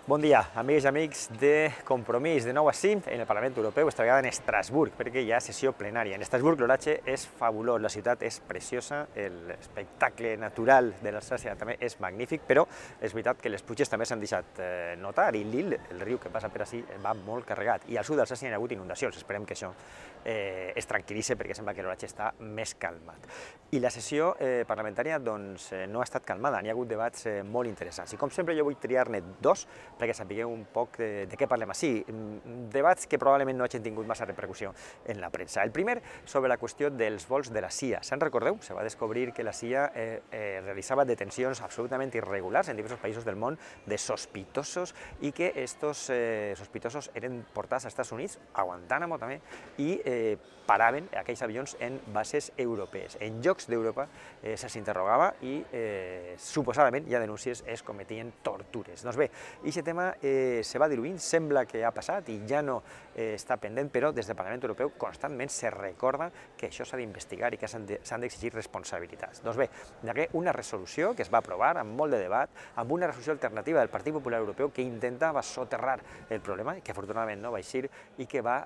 Bon dia, amigues i amics de Compromís, de nou a 5 en el Parlament Europeu, esta vegada en Estrasburg, perquè hi ha sessió plenària. En Estrasburg l'oratge és fabulós, la ciutat és preciosa, l'espectacle natural de l'Alsàcia també és magnífic, però és veritat que les pluges també s'han deixat notar i l'Ill, el riu que passa per ací, va molt carregat. I al sud d'Alsàcia hi ha hagut inundacions, esperem que això es tranquil·litzi perquè sembla que l'oratge està més calmat. I la sessió parlamentària doncs, no ha estat calmada, n'hi ha hagut debats molt interessants. I com sempre jo vull triar-ne dos, perquè sapigueu un poc de què parlem així. Debats que probablement no hagin tingut massa repercussió en la premsa. El primer, sobre la qüestió dels vols de la CIA. Se'n recordeu? Se va descobrir que la CIA realitzava detencions absolutament irregulars en diversos països del món de sospitosos i que estos sospitosos eren portats als Estats Units, a Guantánamo també, i paraven aquells avions en bases europees. En llocs d'Europa se'ls interrogava i suposadament hi ha denúncies es cometien tortures. Doncs bé, aquest tema se va diluint, sembla que ha passat i ja no està pendent, però des del Parlament Europeu constantment se recorda que això s'ha d'investigar i que s'han d'exigir responsabilitats. Doncs bé, hi ha una resolució que es va aprovar amb molt de debat, amb una resolució alternativa del Partit Popular Europeu que intentava soterrar el problema, que afortunadament no va eixir i que va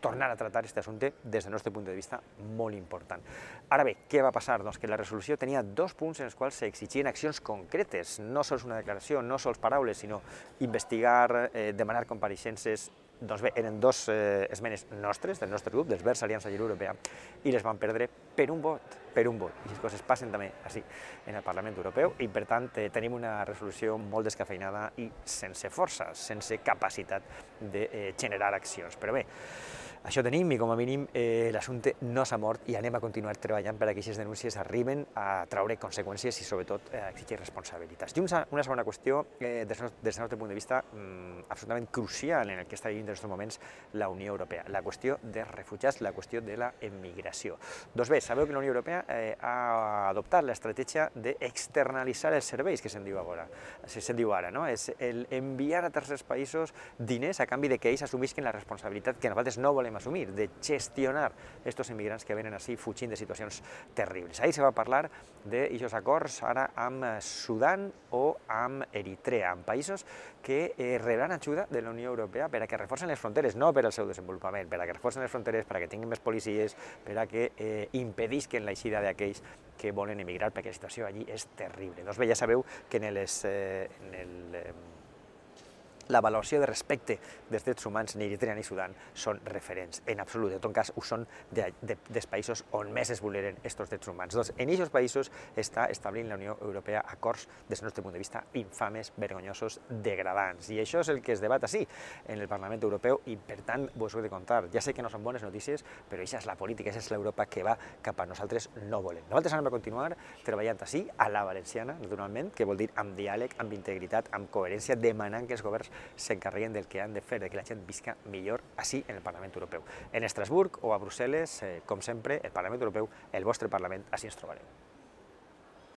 tornar a tractar aquest assumpte des del nostre punt de vista molt important. Ara bé, què va passar? Doncs que la resolució tenia dos punts en els quals s'exigien accions concretes, no sols una declaració, no sols paraules, sinó investigar, demanar compareixences. Doncs bé, eren dos esmenes nostres, del nostre grup, dels Verds Aliança Lliure Europea, i les van perdre per un vot, I les coses passen també així en el Parlament Europeu, i per tant tenim una resolució molt descafeinada i sense força, sense capacitat de generar accions. Però bé, això tenim i com a mínim l'assumpte no s'ha mort i anem a continuar treballant per que aquestes denúncies arriben a traure conseqüències i sobretot a exigir responsabilitats. I una segona qüestió, des del nostre punt de vista, absolutament crucial en el que està vivint en aquests moments la Unió Europea, la qüestió dels refugiats, la qüestió de la emigració. Doncs bé, sabeu que la Unió Europea ha adoptat l'estratègia d'externalitzar els serveis, que se'n diu ara, no? És enviar a tercers països diners a canvi que ells assumisquen la responsabilitat que nosaltres no volem assumir, de gestionar aquests immigrants que venen així fugint de situacions terribles. Ahir se va parlar d'aquests acords ara amb Sudan o amb Eritrea, amb països que rebran ajuda de la Unió Europea per a que reforcen les fronteres, no per al seu desenvolupament, per a que reforcen les fronteres, per a que tinguin més policies, per a que impedisquen l'eixida d'aquells que volen emigrar, perquè la situació allí és terrible. Doncs bé, ja sabeu que la valoració de respecte dels drets humans ni Eritrea ni Sudan són referents, en absolut. En tot cas, ho són dels països on més es vulneren aquests drets humans. Doncs en aquests països està establint la Unió Europea acords, des del nostre punt de vista, infames, vergonyosos, degradants. I això és el que es debat així, en el Parlament Europeu, i per tant vos ho he de contar. Ja sé que no són bones notícies, però això és la política, això és l'Europa que va cap a nosaltres no volem. Nosaltres anem a continuar treballant així, a la valenciana, naturalment, que vol dir amb diàleg, amb integritat, amb coherència, demanant que els governs s'encarreguen del que han de fer, que la gent visca millor així en el Parlament Europeu. En Estrasburg o a Brussel·les, com sempre, el Parlament Europeu, el vostre Parlament, així ens trobarem.